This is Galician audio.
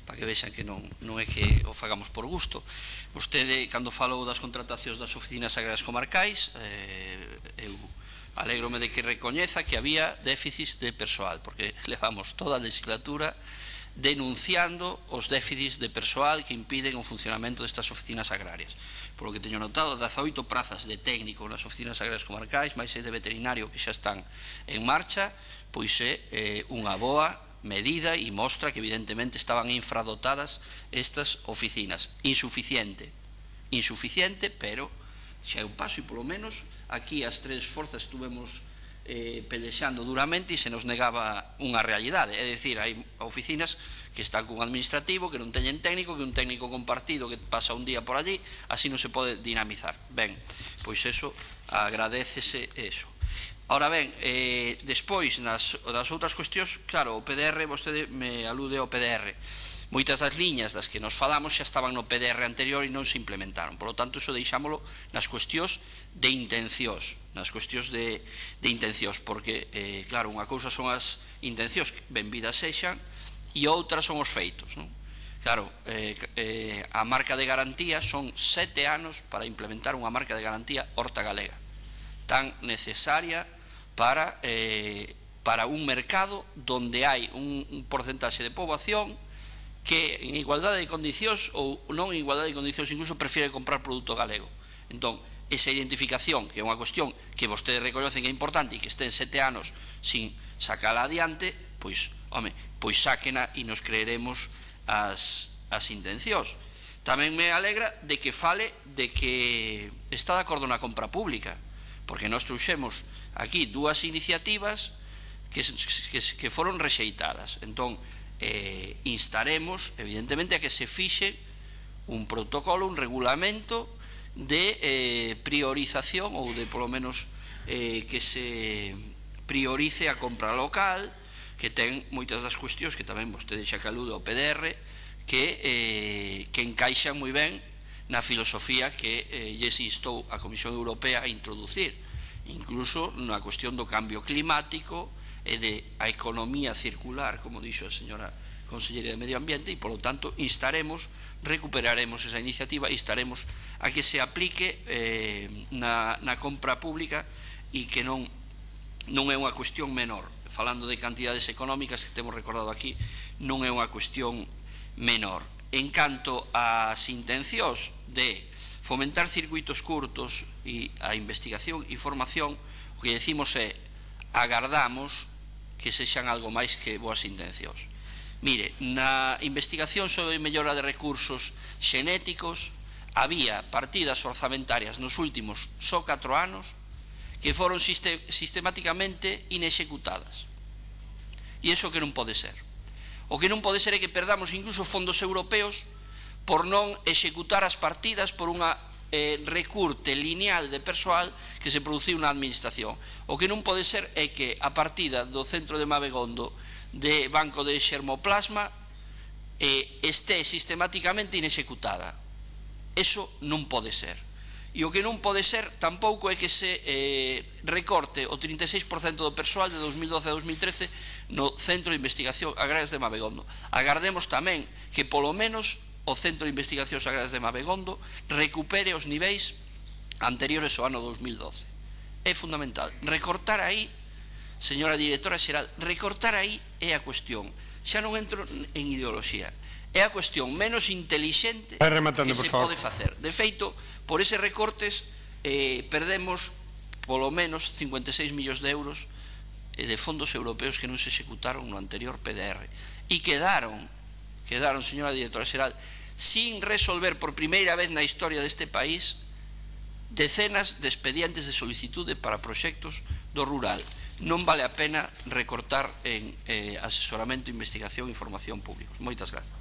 para que vexan que non é que o fagamos por gusto. Vostede, cando falou das contratacións das oficinas agrarias comarcais, eu alégrome de que recoñeza que había déficits de persoal, porque levamos toda a legislatura denunciando os déficits de persoal que impiden o funcionamento destas oficinas agrarias. Por lo que teño notado, 18 prazas de técnico nas oficinas agrarias comarcais, máis 6 de veterinario que xa están en marcha, pois é unha boa medida e mostra que evidentemente estaban infradotadas estas oficinas. Insuficiente, pero xa é un paso, e polo menos aquí as tres forzas estuvemos pelexando duramente e se nos negaba unha realidade, é dicir, hai oficinas que están cun administrativo, que non teñen técnico, que un técnico compartido que pasa un día por allí, así non se pode dinamizar. Ben, pois eso, agradécese eso. Ahora ben, despois, das outras cuestións, claro, o PDR, vostede me alude ao PDR. Moitas das liñas das que nos falamos xa estaban no PDR anterior e non se implementaron. Por lo tanto, iso deixámolo nas cuestións de intencións, porque, claro, unha cousa son as intencións, benvidas sexan, e outras son os feitos, non? Claro, a marca de garantía son 7 anos para implementar unha marca de garantía horta galega, tan necesaria para un mercado donde hai un porcentaxe de poboación que en igualdade de condicións ou non en igualdade de condicións incluso prefiere comprar produto galego. Entón, esa identificación, que é unha cuestión que vostedes reconocen que é importante e que estén 7 anos sin sacala adiante, pois, home, pois sáquena e nos creeremos as intencións. Tamén me alegra de que fale de que está de acordo na compra pública, porque nós trouxemos aquí 2 iniciativas que foron rexeitadas. Entón, instaremos evidentemente a que se fixe un protocolo, un regulamento de priorización ou de polo menos que se priorice a compra local, que ten moitas das cuestións que tamén vostede xa que alude ao PDR que encaixan moi ben na filosofía que lles instou a Comisión Europea a introducir, incluso na cuestión do cambio climático e da economía circular, como dixo a señora Conselleira de Medio Ambiente, e, polo tanto, recuperaremos esa iniciativa e instaremos a que se aplique na compra pública e que non é unha cuestión menor. Falando de cantidades económicas que temos recordado aquí, non é unha cuestión menor. En canto ás intencións de fomentar circuitos curtos e a investigación e formación, o que decimos é agardamos que sexan algo máis que boas intencións. Mire, na investigación sobre mellora de recursos xenéticos había partidas orzamentarias nos últimos só 4 anos que foron sistemáticamente inexecutadas. E iso que non pode ser. O que non pode ser é que perdamos incluso fondos europeos por non executar as partidas por unha recurte lineal de persoal que se produciu na administración. O que non pode ser é que a partida do centro de Mabegondo de banco de xermoplasma este sistemáticamente inexecutada. Eso non pode ser. E o que non pode ser tampouco é que se recorte o 36% do persoal de 2012 a 2013 no Centro de Investigación Agrarias de Mabegondo. Agardemos tamén que polo menos o Centro de Investigacións Agrarias de Mabegondo recupere os niveis anteriores ao ano 2012. É fundamental. Recortar aí, señora directora xeral, recortar aí é a cuestión. Xa non entro en ideoloxía. É a cuestión menos intelixente que se pode facer. De feito, por eses recortes perdemos polo menos 56 millóns de euros de fondos europeos que non se executaron no anterior PDR. E quedaron, señora directora xeral, sin resolver por primeira vez na historia deste país decenas de expedientes de solicitude para proxectos do rural. Non vale a pena recortar en asesoramento, investigación e formación públicos. Moitas grazas.